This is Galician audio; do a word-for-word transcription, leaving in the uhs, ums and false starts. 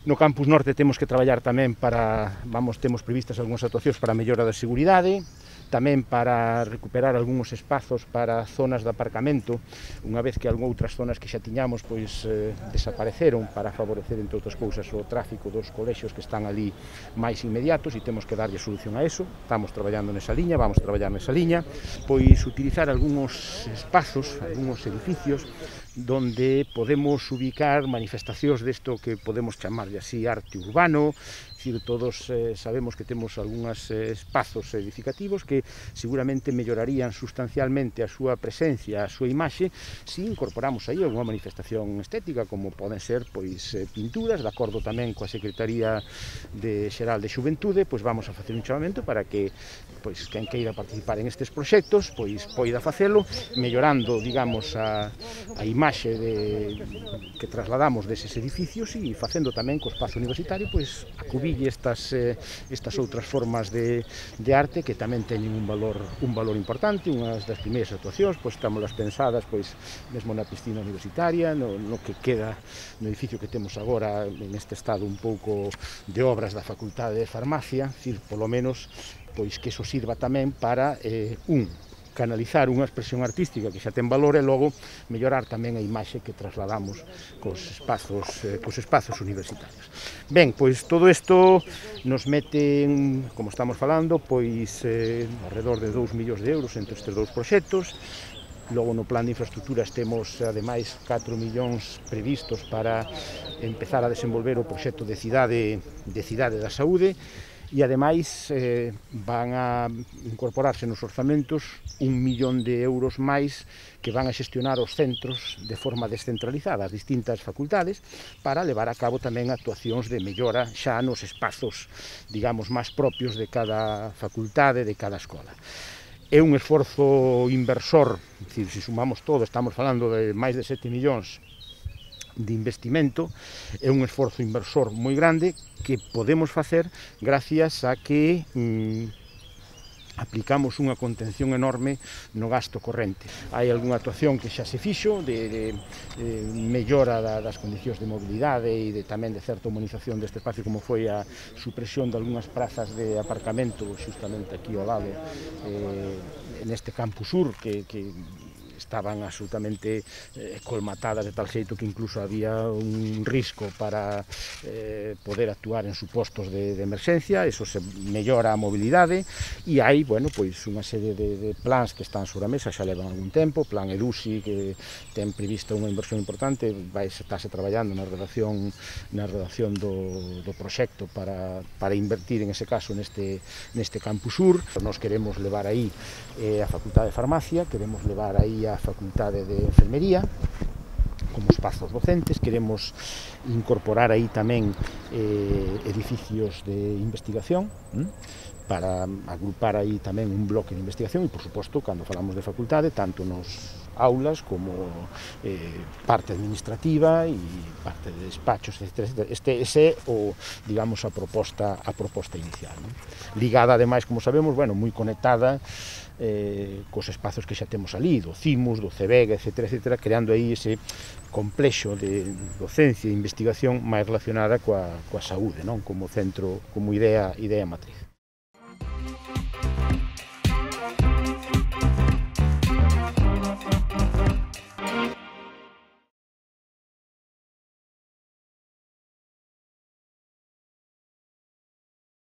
No campus norte temos que traballar tamén para, vamos, temos previstas algunhas actuacións para a mellora da seguridade, tamén para recuperar algúns espazos para zonas de aparcamento, unha vez que algunhas outras zonas que xa tiñamos pois eh, desapareceron para favorecer, entre outras cousas, o tráfico dos colexios que están ali máis inmediatos e temos que darlle solución a eso. Estamos traballando nesa liña, vamos traballar nesa liña, pois utilizar algúns espazos, algúns edificios donde podemos ubicar manifestacións desto que podemos chamarlle así arte urbano. Dicir, todos eh, sabemos que temos algúns eh, espazos edificativos que seguramente mellorarían sustancialmente a súa presencia, a súa imaxe, se incorporamos aí algunha manifestación estética, como poden ser pois eh, pinturas, de acordo tamén coa Secretaría de Xeral de Xuventude, pois vamos a facer un chamamento para que pois quen queira participar en estes proxectos pois poida facelo, mellorando, digamos, a, a imaxe de, que trasladamos deses edificios e facendo tamén co espazo universitario pois acubille estas, eh, estas outras formas de, de arte que tamén teñen un valor, un valor importante. Unhas das primeiras actuacións pois estamos las pensadas pois mesmo na piscina universitaria, no, no que queda no edificio que temos agora en este estado un pouco de obras da Facultade de Farmacia, decir, polo menos pois que eso sirva tamén para eh, un canalizar unha expresión artística que xa ten valor e logo mellorar tamén a imaxe que trasladamos cos espazos, eh, cos espazos universitarios. Ben, pois todo isto nos mete, en, como estamos falando, pois eh, alrededor de dous millóns de euros entre estes dous proxectos. Logo no plan de infraestructuras temos ademais catro millóns previstos para empezar a desenvolver o proxecto de cidade, de cidade da saúde. E, ademais, eh, van a incorporarse nos orzamentos un millón de euros máis que van a xestionar os centros de forma descentralizada, as distintas facultades, para levar a cabo tamén actuacións de mellora xa nos espazos, digamos, máis propios de cada facultade, de cada escola. É un esforzo inversor, se sumamos todo, estamos falando de máis de sete millóns de investimento, é un esforzo inversor moi grande que podemos facer gracias a que mm, aplicamos unha contención enorme no gasto corrente. Hai algunha actuación que xa se fixo de, de, de mellora da, das condicións de mobilidade e de, tamén de certa humanización deste espacio, como foi a supresión de algunhas prazas de aparcamento justamente aquí ao lado, eh, neste campus sur que, que estaban absolutamente eh, colmatadas de tal xeito que incluso había un risco para eh, poder actuar en supostos de, de emerxencia. Eso se mellora a mobilidade e hai, bueno, pois unha serie de, de plans que están sobre a mesa, xa levan algún tempo, plan EDUSI que ten prevista unha inversión importante, vai estarse traballando na redacción na redacción do, do proxecto para, para invertir en ese caso neste, neste campus sur. Nos queremos levar aí eh, a Facultade de Farmacia, queremos levar aí a Facultade de Enfermería como espazos docentes, queremos incorporar aí tamén eh, edificios de investigación, hm? para agrupar aí tamén un bloque de investigación e, por suposto, cando falamos de facultade, tanto nos aulas como eh, parte administrativa e parte de despachos, etcétera. Este, ese é o, digamos, a proposta, a proposta inicial, non? Ligada, ademais, como sabemos, bueno, moi conectada eh, cos espazos que xa temos ali, do CIMUS, do CEBEG, etcétera, etcétera, creando aí ese complexo de docencia e investigación máis relacionada coa, coa saúde, non? Como centro, como idea, idea matriz.